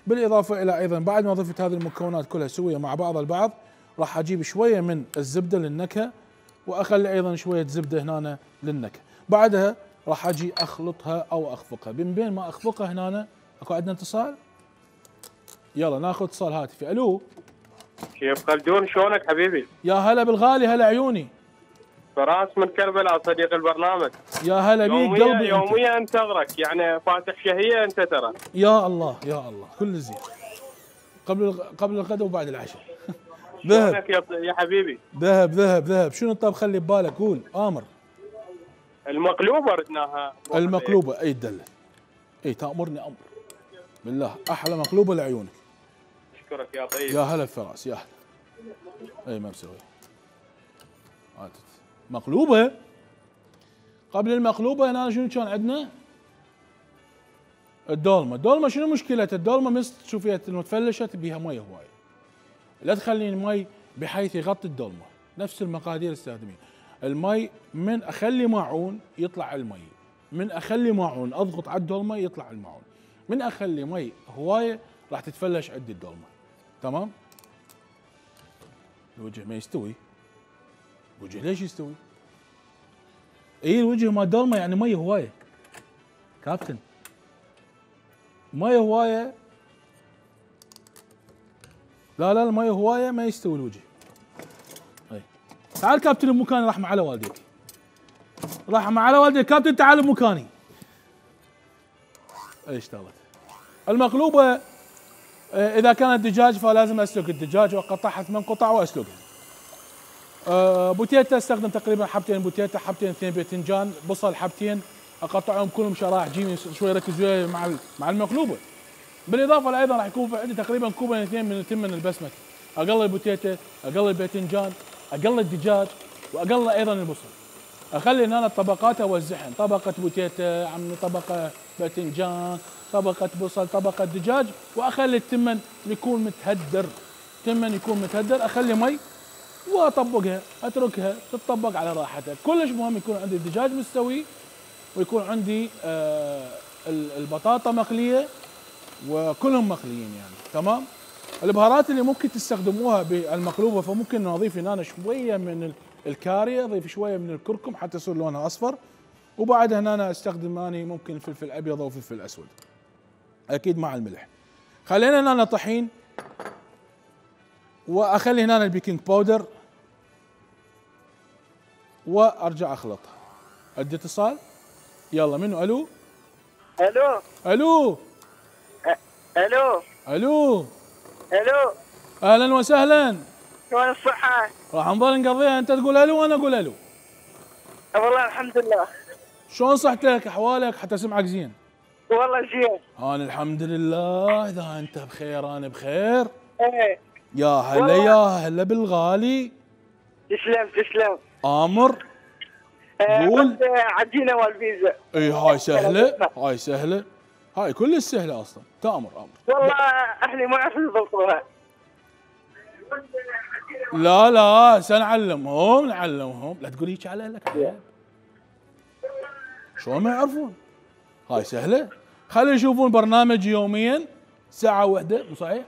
S1: بالاضافه الى ايضا بعد ما ضفت هذه المكونات كلها سويه مع بعض البعض راح اجيب شويه من الزبده للنكهه واخلي ايضا شويه زبده هنا للنكهه. بعدها راح اجي اخلطها او اخفقها. من بين ما اخفقها هنا اكو عندنا اتصال. يلا ناخذ اتصال هاتفي. الو
S2: شيف خلدون شلونك حبيبي؟
S1: يا هلا بالغالي هلا عيوني.
S2: فراس من كربلاء صديق البرنامج.
S1: يا هلا بيك قلبي.
S2: يوميا انتظرك يعني فاتح شهيه انت ترى.
S1: يا الله يا الله كل زين. قبل قبل الغداء وبعد العشاء. ذهب
S2: يا حبيبي.
S1: ذهب ذهب ذهب. شنو الطبخه اللي ببالك؟ قول امر.
S2: المقلوبه ردناها.
S1: المقلوبه اي دله. اي تامرني امر. بالله احلى مقلوبه لعيونك.
S2: اشكرك يا طيب.
S1: يا هلا فراس يا هلا. اي ما مسوي. مقلوبه. قبل المقلوبه هنا شنو كان عندنا؟ الدولمه، الدولمه شنو مشكلتها؟ الدولمه مثل تشوفيها متفلشت بيها مي هواي. لا تخلين المي بحيث يغطي الدولمه، نفس المقادير استخدميها. المي من اخلي ماعون يطلع المي، من اخلي ماعون اضغط على الدولمه يطلع الماعون، من اخلي مي هوايه راح تتفلش عندي الدولمه. تمام؟ الوجه ما يستوي. الوجه ليش يستوي؟ اي الوجه مال الدولمه يعني مي هوايه. كابتن مي هوايه. لا لا المي هوايه ما يستوي الوجه. اي تعال كابتن بمكاني، راح مع على والديك. راح مع على والديك كابتن، تعال بمكاني. اي اشتغلت. المقلوبه اذا كانت دجاج فلازم اسلق الدجاج واقطعها ثمان قطع واسلقها. أه بوتيتا استخدم تقريبا حبتين بوتيتا، حبتين اثنين باذنجان، بصل حبتين اقطعهم كلهم شرائح جيمي شوي ركز وياي مع مع المقلوبه. بالاضافه ايضا راح يكون عندي تقريبا كوبين اثنين من التمن البسمتي. اقلل البوتيتا، اقلل الباذنجان، اقلل الدجاج، واقلل ايضا البصل. اخلي هنا الطبقات اوزعهن، طبقه بوتيتا، عمي طبقه باذنجان، طبقه بصل، طبقه دجاج، واخلي التمن يكون متهدر. تمن يكون متهدر، اخلي مي واطبقها، اتركها تتطبق على راحتها. كلش مهم يكون عندي الدجاج مستوي، ويكون عندي آه البطاطا مقليه، وكلهم مقليين يعني. تمام؟ البهارات اللي ممكن تستخدموها بالمقلوبه، فممكن نضيف هنا شويه من الكاري، اضيف شويه من الكركم حتى يصير لونها اصفر، وبعدها هنا استخدم اني ممكن فلفل ابيض او فلفل اسود. اكيد مع الملح. خلينا هنا طحين، واخلي هنا البيكنج باودر، وارجع اخلطها. ادي اتصال. يلا منو؟ الو
S2: الو
S1: الو
S2: الو
S1: الو
S2: الو
S1: اهلا وسهلا.
S2: شلون الصحة؟
S1: راح نظل نقضيها، انت تقول الو وانا اقول الو.
S2: والله الحمد لله.
S1: شلون صحتك؟ احوالك حتى اسمعك زين.
S2: والله زين.
S1: انا الحمد لله، اذا انت بخير انا بخير.
S2: ايه
S1: يا هلا يا هلا بالغالي.
S2: تسلم تسلم.
S1: امر.
S2: قول. عجينه والبيتزا.
S1: اي هاي سهله، هاي سهله، هاي كلش سهله اصلا. تامر امر.
S2: والله اهلي ما يعرفون يضبطوها.
S1: لا لا سنعلمهم نعلمهم، لا تقول هيك على اهلك عيب. شلون ما يعرفون؟ هاي سهله. خلي يشوفون برنامج يوميا ساعه واحده، مو صحيح؟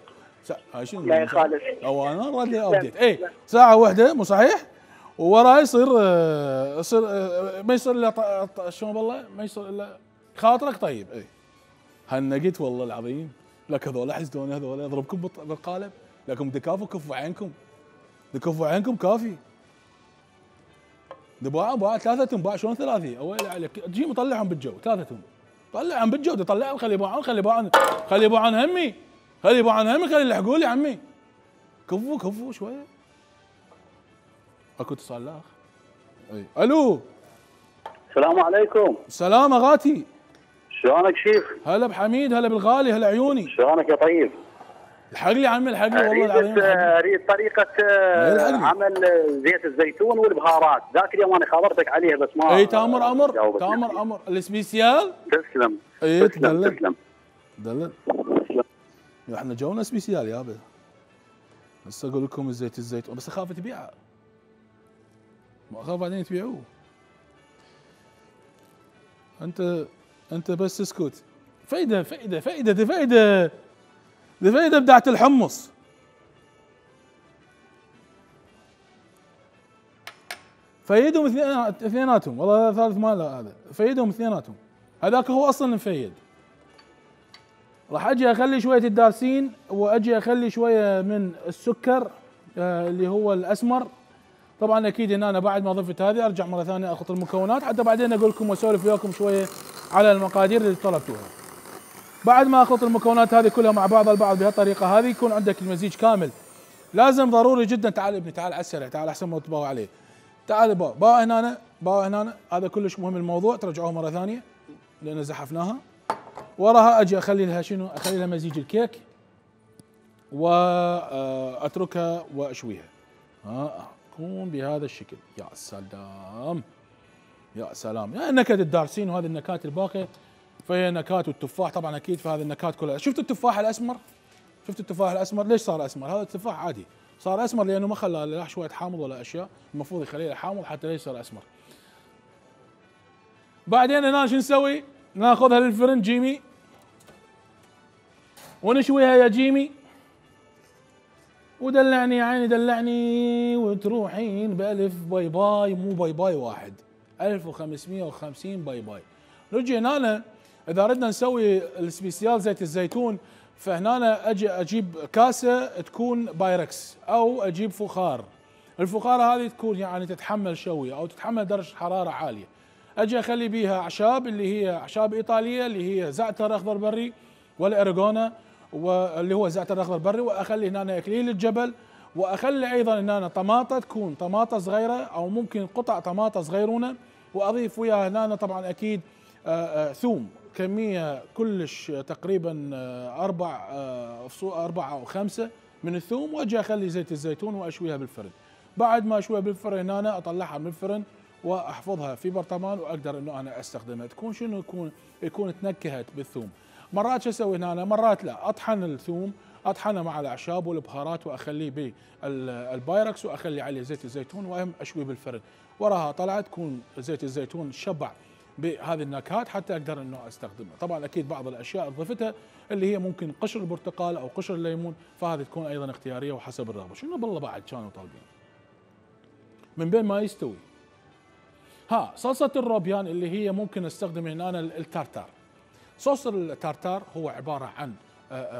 S1: هاي شنو؟
S2: لا يخالف.
S1: او انا رد ابديت. اي ساعه واحده مو صحيح؟ ووراي يصير يصير ما يصير الا شلون والله ما يصير الا خاطرك طيب. اي هنقيت والله العظيم. لك هذول حسدوني، هذول اضربكم بالقالب، لكم دكافوا كفوا عينكم، دكفوا عينكم كافي. دباع باع ثلاثة تنباع. شلون ثلاثي؟ اويلي عليك، تجي مطلعهم بالجو ثلاثتهم، طلعهم بالجو، طلعهم خلي يباعون، خلي يباعون، خلي يباعون همي، خلي يباعون همي، خلي يلحقوا لي عمي. كفوا كفوا شويه. اكو اتصال لا اخ. اي الو
S5: السلام عليكم.
S1: سلام اغاتي.
S5: شلونك شيف؟
S1: هلا بحميد، هلا بالغالي، هلا عيوني.
S5: شلونك يا طيب؟
S1: الحق لي عمي، الحق لي والله العظيم.
S5: اريد طريقة عمل زيت الزيتون والبهارات، ذاك اليوم انا خابرتك عليها بس ما.
S1: اي تامر امر، تامر امر، السبيسيال.
S5: تسلم.
S1: اي
S5: تسلم تسلم.
S1: دلل. احنا جونا سبيسيال يابا. هسه اقول لكم الزيت الزيتون، بس اخاف تبيعه. ما اخاف بعدين تبيعوه. انت انت بس اسكت. فايده فايده فايده دي فايده دي فايده بدعت الحمص. فايدهم اثنيناتهم، والله ثالث مال هذا، فايدهم اثنيناتهم. هذاك هو اصلا مفيد. راح اجي اخلي شويه الدارسين، واجي اخلي شويه من السكر آه اللي هو الاسمر. طبعا اكيد ان انا بعد ما ضفت هذه ارجع مره ثانيه اخلط المكونات، حتى بعدين اقول لكم واسولف وياكم شويه على المقادير اللي طلبتوها. بعد ما اخلط المكونات هذه كلها مع بعض البعض بهالطريقه هذه، يكون عندك المزيج كامل. لازم ضروري جدا. تعال ابني، تعال على السريع، تعال احسن ما تباوع عليه. تعال باو باو هنا، باو هنا، هذا كلش مهم الموضوع. ترجعوه مره ثانيه لان زحفناها. وراها اجي اخلي لها شنو؟ اخلي لها مزيج الكيك. واتركها واشويها. ها تكون بهذا الشكل. يا سلام يا سلام. يعني نكهة الدارسين وهذه النكهات الباقية فهي نكهات، والتفاح طبعا اكيد في هذه النكهات كلها. شفت التفاح الاسمر؟ شفت التفاح الاسمر ليش صار اسمر؟ هذا التفاح عادي صار اسمر لانه ما خلى لا شويه حامض ولا اشياء، المفروض يخليه حامض حتى لا يصير اسمر. بعدين هنا شو نسوي؟ ناخذها للفرن جيمي ونشويها يا جيمي، ودلعني يا عيني دلعني، وتروحين بألف باي باي، مو باي باي واحد، ألف وخمسمية وخمسين باي باي. نجي هنا اذا ردنا نسوي السبيسيال زيت الزيتون، فهنا اجي اجيب كاسه تكون بايركس او اجيب فخار. الفخاره هذه تكون يعني تتحمل شويه او تتحمل درجه حراره عاليه. اجي اخلي بيها اعشاب اللي هي اعشاب ايطاليه اللي هي زعتر اخضر بري والاريجونا واللي هو زعتر اخضر بري، واخلي هنا اكليل الجبل، واخلي ايضا هنا طماطه تكون طماطه صغيره او ممكن قطع طماطه صغيرونه، واضيف وياها هنا طبعا اكيد آآ آآ ثوم كميه كلش تقريبا اربع اربعه او خمسه من الثوم، واجي اخلي زيت الزيتون واشويها بالفرن. بعد ما اشويها بالفرن هنا اطلعها من الفرن واحفظها في برطمان واقدر انه انا استخدمها. تكون شنو يكون يكون تنكهت بالثوم. مرات شو اسوي هنا؟ مرات لا اطحن الثوم، اطحنه مع الاعشاب والبهارات واخليه بالبايركس واخلي عليه زيت الزيتون واهم اشويه بالفرن. وراها طلعت تكون زيت الزيتون شبع بهذه النكهات حتى اقدر انه استخدمها. طبعا اكيد بعض الاشياء اضفتها اللي هي ممكن قشر البرتقال او قشر الليمون، فهذه تكون ايضا اختياريه وحسب الرغبه. شنو بالله بعد كانوا طالبين من بين ما يستوي؟ ها صلصه الروبيان اللي هي ممكن استخدم هنا التارتار. صوص التارتار هو عباره عن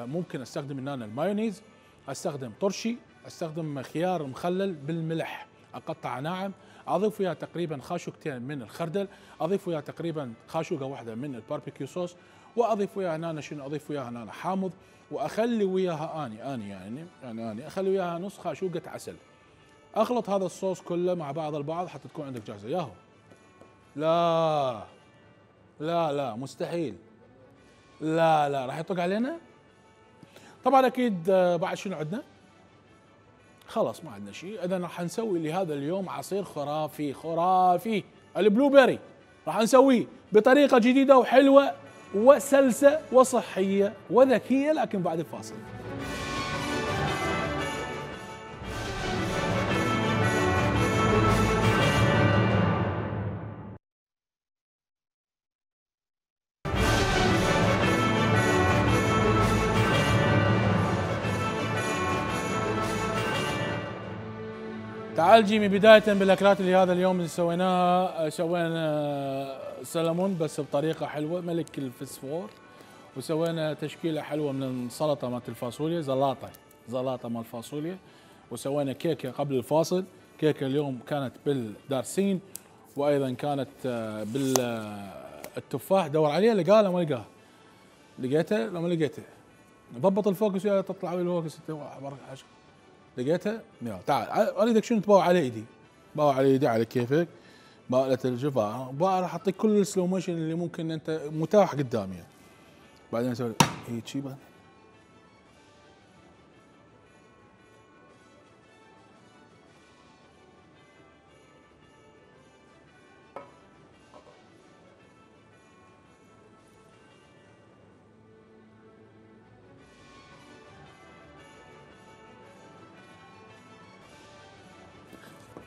S1: ممكن استخدم هنا المايونيز، استخدم طرشي، استخدم خيار مخلل بالملح اقطع ناعم، اضيف وياه تقريبا خاشوقتين من الخردل، اضيف وياه تقريبا خاشوقه واحده من الباربيكيو صوص، واضيف وياها هنا شنو اضيف وياها هنا حامض، واخلي وياها اني اني يعني يعني اني اخلي وياها نص خاشوقه عسل. اخلط هذا الصوص كله مع بعض البعض حتى تكون عندك جاهزه. ياهو لا لا لا مستحيل، لا لا راح يطق علينا. طبعا اكيد بعد شنو عندنا؟ خلاص ما عندنا شيء. اذا راح نسوي لهذا اليوم عصير خرافي خرافي، البلو بيري راح نسويه بطريقه جديده وحلوه وسلسه وصحيه وذكيه، لكن بعد الفاصل. تعال جيمي، بداية بالاكلات اللي هذا اليوم اللي سويناها، سوينا سلمون بس بطريقة حلوة ملك الفسفور، وسوينا تشكيلة حلوة من السلطة مالت الفاصوليا، زلاطة زلاطة مال الفاصوليا، وسوينا كيكة قبل الفاصل. كيكة اليوم كانت بالدارسين وايضا كانت بالتفاح. دور عليها لقاها ولا ما لقاها؟ لقيتها لو ما لقيتها ضبط الفوكس وياها تطلع بالفوكس. لقيتها؟ يلا تعال اريدك شنو تباوع على ايدي، باوع على ايدي على كيفك، باوعة الجفا، راح اعطيك كل السلو موشن اللي ممكن انت متاح قدامي يعني. بعدين اسوي هيك شي بعد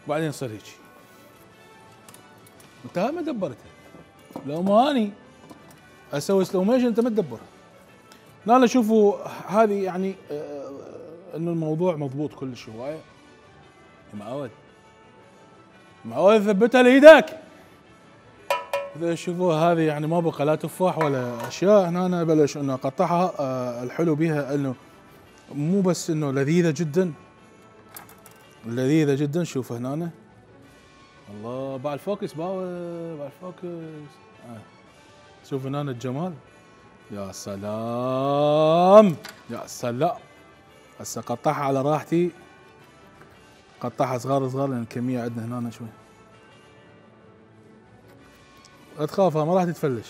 S1: بعدين يصير هيك. انت ما دبرتها، لو ما اني اسوي سلو موشن انت ما تدبرها. لا شوفوا هذه يعني آه انه الموضوع مضبوط كلش هوايه. معود معود ثبتها لايدك. اذا شوفوا هذه يعني ما بقى لا تفاح ولا اشياء. هنا انا بلش انه اقطعها. آه الحلو بها انه مو بس انه لذيذه جدا لذيذة جدا. شوف هنا الله باع الفوكس باوع باع الفوكس. آه. شوف هنا الجمال. يا سلام يا سلام. هسه قطعها على راحتي، قطعها صغار صغار لان الكمية عندنا هنا شوي. لا تخافها ما راح تتفلش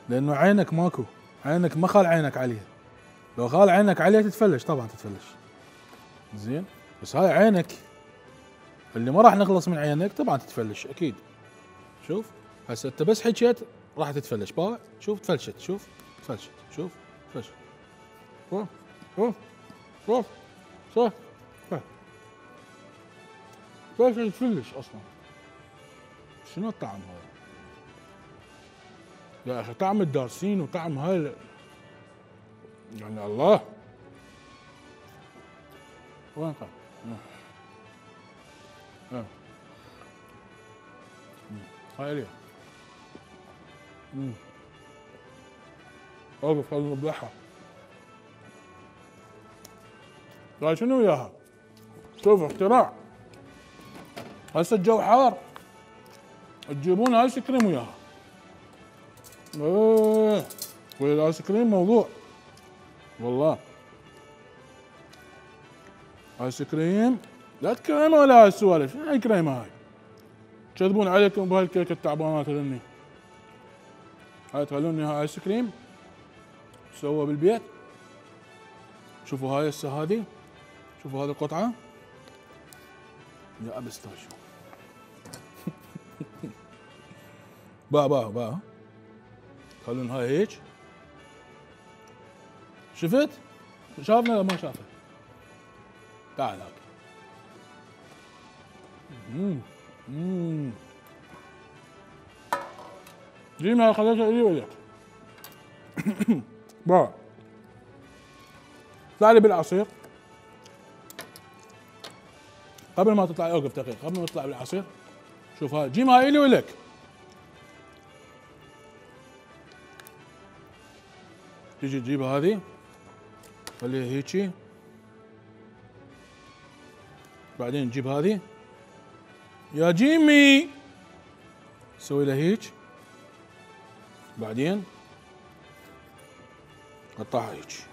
S1: لانه عينك ماكو، عينك ما خال عينك عليها. لو غال عينك عليه تتفلش، طبعا تتفلش. زين، بس هاي عينك اللي ما راح نخلص من عينك طبعا تتفلش اكيد. شوف هسه انت بس حكيت راح تتفلش، باوع شوف تفلشت، شوف تفلشت، شوف تفلشت، شوف شوف شوف شوف تفلشت تفلش اصلا. شنو الطعم هذا يا اخي؟ طعم الدارسين وطعم هاي يعني الله. وين قام؟ اه هاي ليه؟ امم اوقف خلينا نذبحها. هاي شنو وياها؟ شوف اختراع. هسه الجو حار تجيبون ايس كريم وياها. ايه والايس كريم موضوع والله. ايس كريم لا تكريمه ولا هاي السوالف، شنو هاي كريمه هاي؟ تكذبون عليكم بهاي الكيكه التعبانات هذني. هاي تخلوني هاي ايس كريم سووه بالبيت. شوفوا هاي هسه هذي، شوفوا هذه القطعه يا ابستاشيو. باع باع باع خلون هاي هيك. شفت؟ شافنا ولا ما شافه؟ تعال هاك. امم امم جينا خليتها الي وياك. باع اطلع لي بالعصير قبل ما تطلع. اوقف دقيقة قبل ما تطلع بالعصير. شوف هاي جيم هاي الي ولك. تيجي تجيب هذه خليها هيجي، بعدين نجيب هذه يا جيمي سوي له هيك، بعدين قطعها هيك.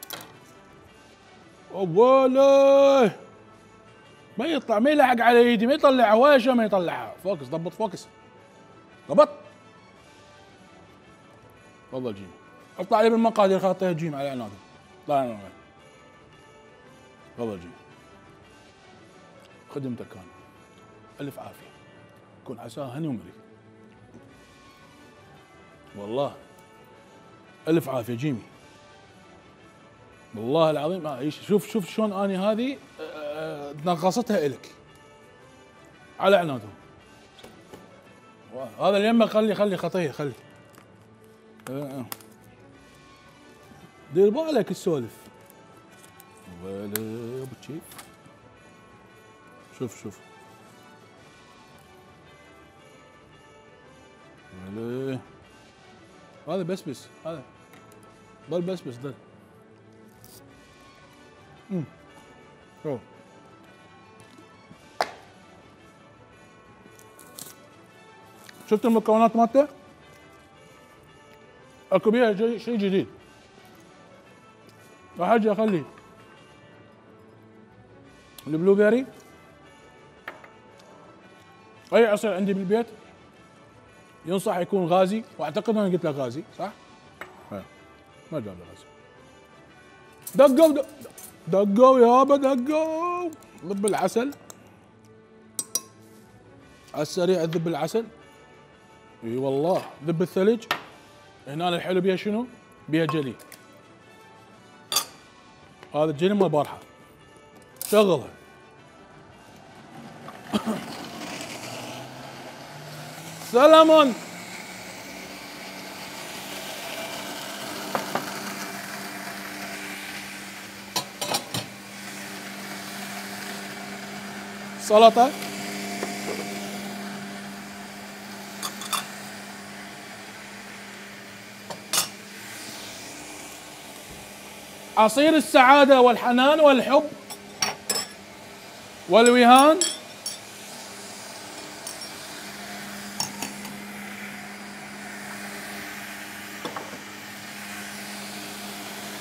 S1: اوله ما يطلع، ما يلحق على ايدي، ما يطلعها ولا شيء، ما يطلعها. فوكس ضبط فوكس ضبط. تفضل جيم اطلع لي بالمقادير خاطيها جيم على عنادي. طلع لنا تفضل جيم خدمتك كان الف عافيه، كون عساه هني ومري والله. الف عافيه جيمي والله العظيم. آه شوف شوف شلون اني هذه آه نغصتها الك على عنادهم. هذا اليمه خلي خلي خطيه خلي. آه. دير بالك السولف ولا ابو تشيف. شوف شوف ولا هذا بس بس هذا ضل بس بس ضل. امم شوف شفت المكونات مالته؟ اكو بيها شيء جديد. راح اجي اخلي البلو بيري، اي عصير عندي بالبيت ينصح يكون غازي، واعتقد انا قلت لك غازي صح؟ ها ما جاب لي غازي. دقوا دقوا يابا دقوا. ذب العسل على السريع، ذب العسل. اي والله ذب الثلج. هنا الحلو بيها شنو؟ بيها جلي. هذا الجلي مال البارحه شغلها. سلامون سلطه عصير السعاده والحنان والحب والوهان.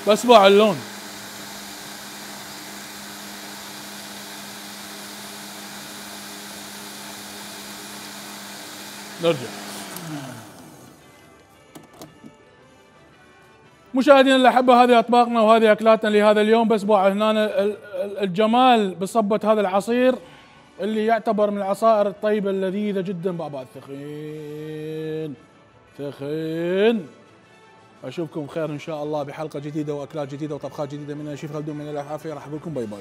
S1: بس باع اللون. نرجع مشاهدينا الاحبه هذه اطباقنا وهذه اكلاتنا لهذا اليوم، بس بو هنا الجمال بصبه هذا العصير اللي يعتبر من العصائر الطيبه اللذيذه جدا. بابا ثخين ثخين. اشوفكم خير ان شاء الله بحلقه جديده واكلات جديده وطبخات جديده من شيف خلدون من العافيه. راح اقول لكم باي باي.